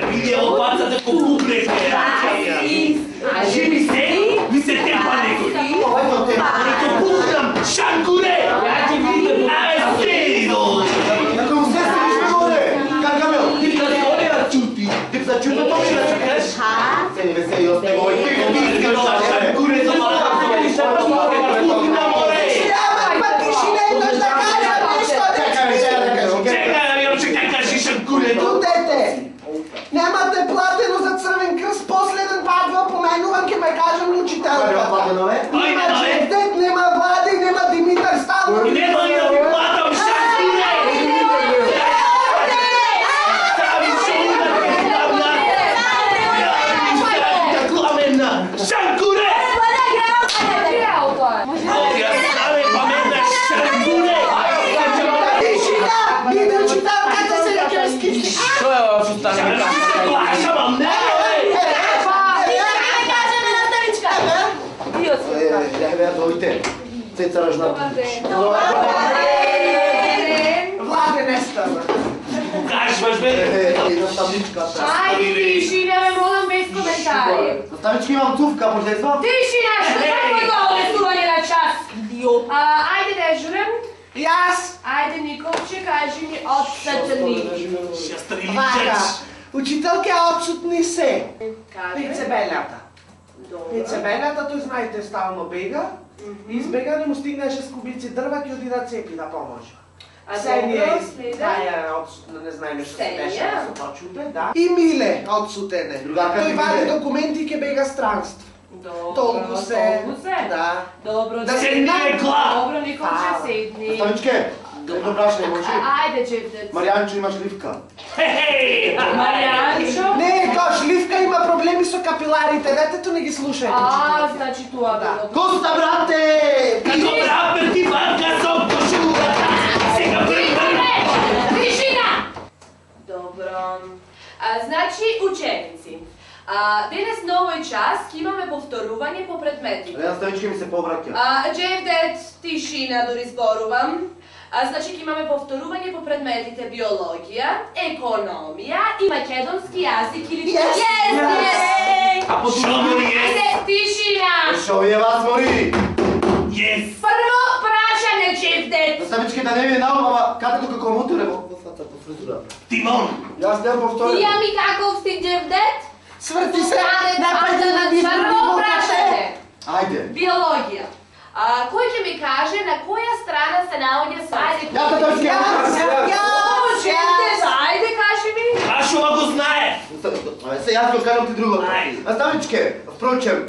Види опацата ко купрете. Живи се, ми се тепа некој. Ко купрам, шанкуре! Аје, седи долу. Како му се седиш горе? Каркамел, ти да се одеја чути. Ти за чути тоа ми да чекаш? Седи бе, седи, остај го. Шанкуре, за Немате платено за Црвен крст, последен пат во поменувам ке ме кажам учителка. Нема Джевдет, нема Влади, нема Димитар Станов. Нема ли да ми платам шанкуре? Стави шоуна ке стави кламена. Шанкуре! Овија стави памена шанкуре! Биде учителката се ќе скичи. Што е ова што стане? Цеца Ражната. Владе не става. Кажваш бе? Ајде, тишина, ме молам без коментари. Наставнички имам тувка, може да извам? Тишина, што само е тоа одесување на час? Ајде дежурен. Јас. Ајде, Николче, кажи ми отсетни. Вака, учителке отсутни се. Пицебелјата. Пицебелјата, тој знаете, стално бега. Избега, не му стигнеше с кубици дрва, ќе оди да цепи да поможа. Сенија отсутна, не знаеме што се беше, да се почуте, да. И Миле отсутене. Тој вади документи, ќе бега странство. Толку се. Да. Добро, седни, Екла! Добро, Николче, седни. Наставничке, едно брашне може? Ајде, Джевдет. Маријанчо, имаш ливка? Хе-хей! Маријанчо? Не, тоа шливка има проблеми со капиларите, детето не ги слушајте. Значи тоа било. Коста, брате! Како брапер ти банка со кошулата! Сега Тишина! Добро. Значи, ученици. Денес на овој час ќе имаме повторување по предметите. Наставнички ми се повраќа. Джевдет, тишина, дори зборувам. Значи ќе имаме повторување по предметите биологија, економија и македонски јазик или А по шумори Ајде, тишина! Шо вие вас мори? Yes! Прво прашање, Джевдет. Наставнички да не ви наум, ама каде како моторе во фата, по фризура? Тимон! Јас не повторам. Ја ми каков си, Джевдет? Сврти се, напаѓа на Прво прашање. Ајде. Биологија. Кој ќе ми каже на која страна се наоѓа Свајде? Ајде, кажи ми. Ашо го знае! Се јас го кажам ти друго. Наставничке, впрочем,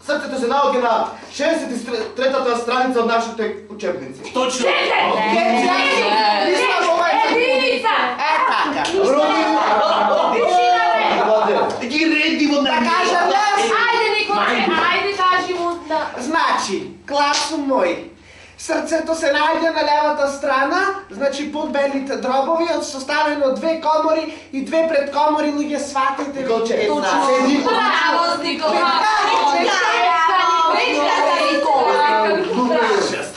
срцето се наоѓа на 63-та страница од нашите учебници. Точно! Единица! Ги редимо на Ајде, Николче, ајде, кажи му. Значи, класу мој, срцето се најде на левата страна, значи под белите дробови, составено од 2 комори и 2 предкомори, луѓе сватите Николче, Браво, Николче!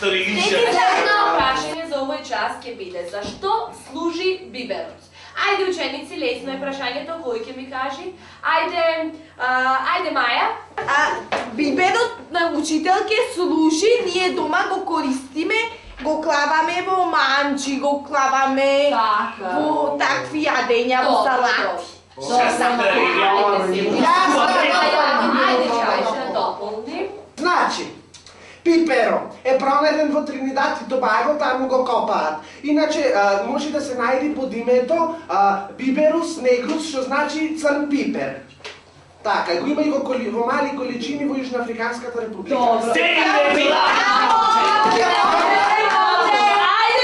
Едно прашање за овој час ќе биде: зашто служи биберот? Ајде, ученици, лесно е прашањето, кој ќе ми кажи? Ајде, Маја. Биберот на учителке служи, ние дома го користиме, го клаваме во манчи, го клаваме во такви јадења, во салати. Ајде, Чајша, дополни. Значи, пиперо е пронеден во Тринидад и Тобаго, таму го копаат. Иначе, може да се најди под името биберус негрус, што значи црн пипер. Така, го има и во мали количини во Јужноафриканската република. Ајде,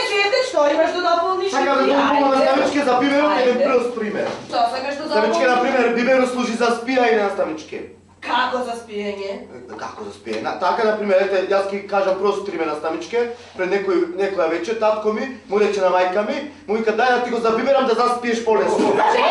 Джевдет, што имаш да дополниш? Сакам да дополнам наставничке за биберот еден прост пример. Што сакаш да Наставничке, дополниш? например, биберот служи за спијање наставничке. Како за спиење? Како за спиење? Така, например, ете, јас ќе кажам прост пример наставничке. Пред некоја вечер татко ми му рече на мајка ми, му вика дај да ти го забиберам да заспиеш полесно. Значи,